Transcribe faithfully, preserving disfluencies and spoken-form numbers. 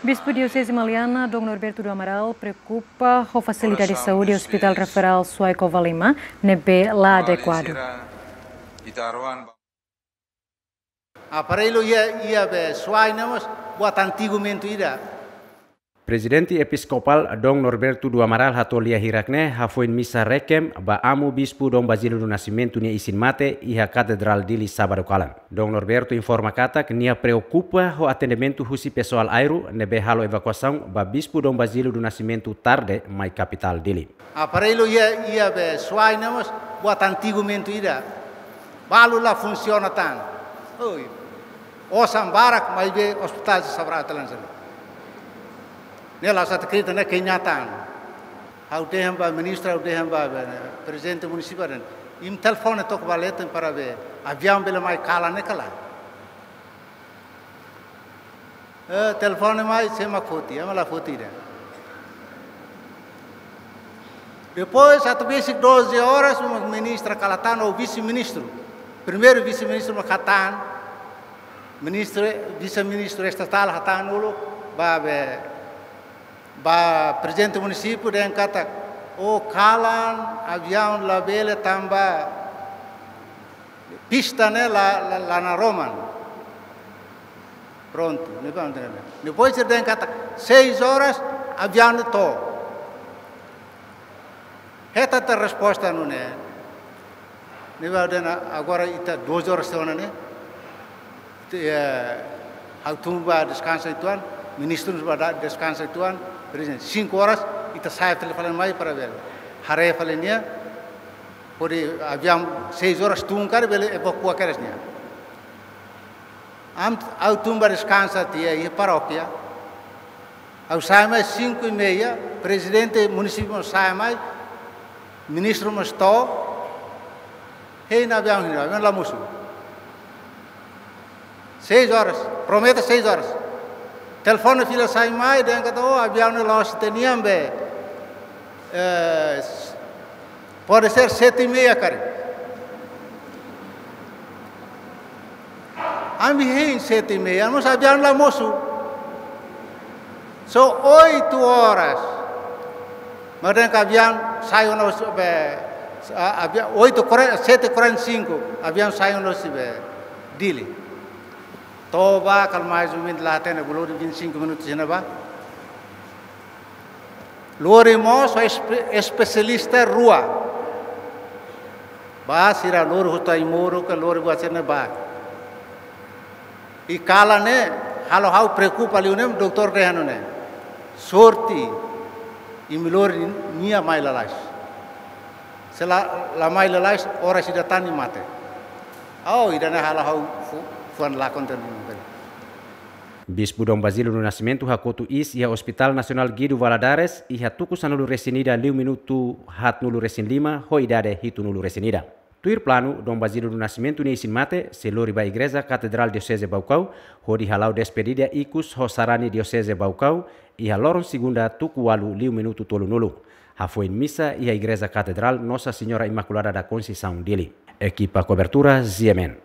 Bispu Dioseze Maliana, Dom Norberto do Amaral, preokupa ho fasilidade saúde Hospital Referral Suai Covalima ne'ebé la adekuadu. Aparellu iha, iha be Suai ne'e mós buat antigu mentu ida. Prezidente Episkopál Dom Norberto do Amaral hato'o lia hirak-ne'e hafoin misa rekem ba Amu Bispu Dom Basílio do Nascimento nia isin-mate iha Katedrál Dili sábadu kalan. Dom Norberto informa katak nia preokupa ho atendimentu husi pesoál AIRU ne'ebé halo evakuasaun ba Bispu Dom Basílio do Nascimento tarde mai kapitál Dili. Aparellu iha, iha be Suai ne'e mós buat antigu mentu ida. Balu la funsiona tan. Oi. Osan barak maibé ospitál se sabra telan sen. Ne'e la'ós atu kritike, ne'e kenyataan. Ha'u dehan ba ministru, ha'u dehan ba, be, prezidente munisípiu dehan. Imi telefone took ba leten para be aviaun bele mai kalan ne'e ka lae. Eh, telefone mai, sé mak foti, ema la foti ida. Depois, atu besik doze horas, uma ministra kalan tan, ou vise-ministru. Primeiru vise-ministru mak hatán, ministru, vise-ministru estatál hatán uluk, ba be, ba prezidente munisípiu dehan katak, o kalan, aviaun labele tanba pista ne'e la, la, la naroman. Prontu, ne'e ba, ne'e ba. Depois dehan katak seis horas aviaun ne'e to'o. Hetan tiha resposta nune'e. Ne'e ba dehan agora ita doze horas tiha ona ne'e. Te, eh, ha'u tun ba deskansa uitoan, ministru ba da-, deskansa uitoan, prezidente, cinco horas, ita sai fali fali mai para bele haree fali nia, hodi aviaun seis horas tun karik bele evakua kedas nia. Ami, ha'u tun ba deskansa tiha iha parókia. Ha'u sai mai cinco e meia, prezidente munisípiu sai mai, ministru mós to'o, hein aviaun, hein aviaun la mosu. Seis horas, promete seis horas. Telefone fila sai mai, dehan katak, o, aviaun ne'e la'ós ita-nian be. Eh, pode ser sete e meia karik. Ami hein sete e meia, mas aviaun la mosu. Só oito horas. Mas dehan katak aviaun sai ona husi be, a, avia-, oito e quarenta, sete e quarenta e cinco, aviaun sai ona husi be Dili. To'o ba, kala mais ou menus la hatene, bolu de vinte e cinco minutos iha ne'ebá. Lori mós espe-, espesialista rua. Ba sira lori husi Taimoro ka lori buat sira-ne'e ba. I kalan ne'e halo ha'u preokupa liu ne'e, doutór dehan nune'e. Sorte, imi lori nia mai lalais. Se la, la mai lalais, oras ida tan imi mate. Ao, ida-ne'e halo ha'u fu-, fuan lakon tan. Bispu Dom Basílio do Nascimento hakotu iis iha Hospital Nasionál Guido Valadares iha tuku sanulu-resin-ida liu minutu haatnulu-resin-lima ho idade hitunulu-resin-ida. Tuir planu, Dom Basílio do Nascimento nia isin-mate sei lori ba Igreja Katedrál Dioseze Baucau, hodi hala'o despedida ikus ho sarani Dioseze Baucau, iha loron segunda tuku ualu liu minutu tolunulu. Hafoin misa iha Igreja Katedrál Nossa Senhora Imaculada da Conceição Dili. Ekipa kobertura, Z M N.